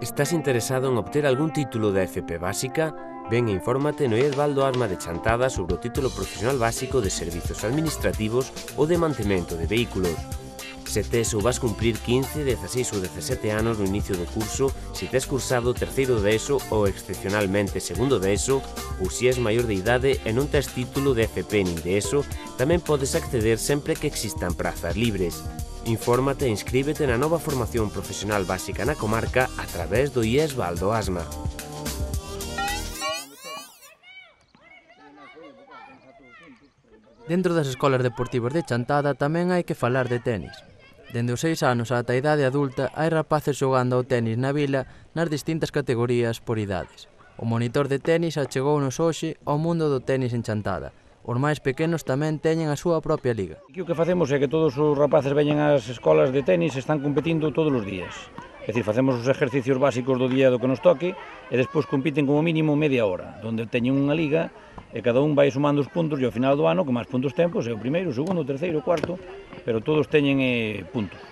Estás interesado en obter algún título de FP básica? Ven e infórmate no IES Baldo Asma de Chantada sobre o título profesional básico de servizos administrativos ou de mantemento de vehículos. Se tes ou vas cumprir 15, 16 ou 17 anos no inicio do curso, se tes cursado terceiro de ESO ou excepcionalmente segundo de ESO, ou se és maior de idade e non tes título de FP nin de ESO, tamén podes acceder sempre que existan prazas libres. Infórmate e inscríbete na nova formación profesional básica na comarca a través do IES Baldo Asma. Dentro das escolas deportivas de Chantada tamén hai que falar de tenis. Dende os 6 anos ata a idade adulta hai rapaces xogando ao tenis na vila nas distintas categorías por idades. O monitor de tenis achegounos hoxe ao mundo do tenis en Chantada. Os máis pequenos tamén teñen a súa propia liga. Aquí o que facemos é que todos os rapaces veñen ás escolas de tenis e están competindo todos os días. É dicir, facemos os exercicios básicos do día do que nos toque e despois compiten como mínimo media hora, onde teñen unha liga e cada un vai sumando os puntos e ao final do ano, que máis puntos ten, é o primeiro, o segundo, o terceiro, o cuarto, pero todos teñen puntos.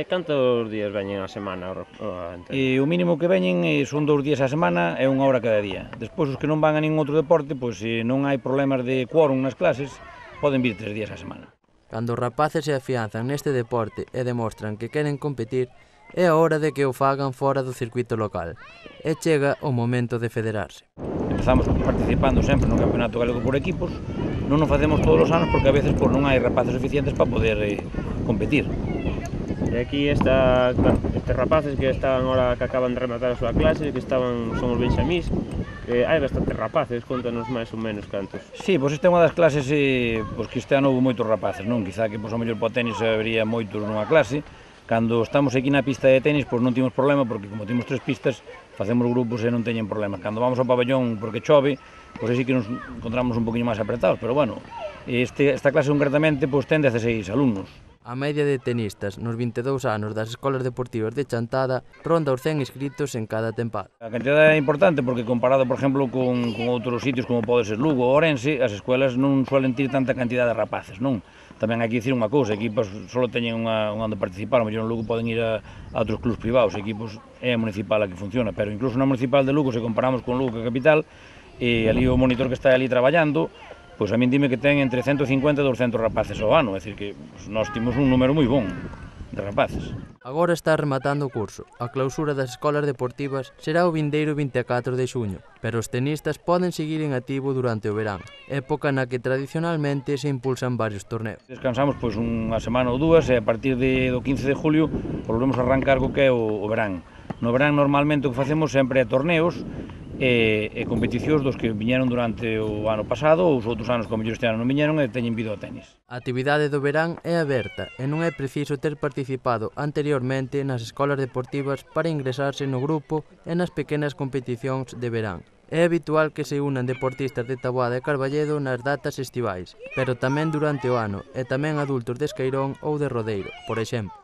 Cantos días veñen a semana? O mínimo que veñen son 2 días a semana e 1 hora cada día. Despois os que non van a ningún outro deporte, pois se non hai problemas de quórum nas clases, poden vir 3 días a semana. Cando os rapaces se afianzan neste deporte e demostran que queren competir, é a hora de que o fagan fora do circuito local. E chega o momento de federarse. Empezamos participando sempre no Campeonato Galego por equipos, non o facemos todos os anos porque a veces non hai rapaces suficientes para poder competir. E aquí estes rapaces que están ahora que acaban de rematar a súa clase, que son os benxamís, hai bastantes rapaces, contanos máis ou menos cantos. Sí, pois esta é unha das clases que este ano houve moitos rapaces, non? Quizá que ao mellor para o tenis habería moitos nunha clase. Cando estamos aquí na pista de tenis, pois non temos problema, porque como temos 3 pistas, facemos grupos e non teñen problema. Cando vamos ao pabellón porque chove, pois aí sí que nos encontramos un poquinho máis apretados, pero bueno, esta clase concretamente ten 16 alumnos. A media de tenistas nos 22 anos das escolas deportivas de Chantada ronda os 100 inscritos en cada tempada. A cantidade é importante porque comparado, por exemplo, con outros sitios como pode ser Lugo ou Ourense, as escolas non suelen ter tanta cantidade de rapaces, non? Tamén hai que dicir unha cousa, equipos só teñen onde participar, o mellor en Lugo poden ir a outros clubs privados, equipos é a municipal a que funciona, pero incluso na municipal de Lugo, se comparamos con Lugo, que é a capital, e ali o monitor que está ali traballando, pois a min dime que ten entre 150 e 200 rapaces ao ano, é dicir que nós temos un número moi bon de rapaces. Agora está rematando o curso. A clausura das escolas deportivas será o vindeiro 24 de xuño, pero os tenistas poden seguir en activo durante o verán, época na que tradicionalmente se impulsan varios torneos. Descansamos pois unha semana ou dúas e a partir do 15 de julio volvemos a arrancar co que é o verán. No verán normalmente o que facemos sempre é torneos e competicións dos que viñeron durante o ano pasado ou os outros anos como este ano non viñeron e teñen vido ao tenis. A actividade do verán é aberta e non é preciso ter participado anteriormente nas escolas deportivas para ingresarse no grupo e nas pequenas competicións de verán. É habitual que se unan deportistas de Taboada e Carballedo nas datas estivais, pero tamén durante o ano e tamén adultos de Esqueirón ou de Rodeiro, por exemplo.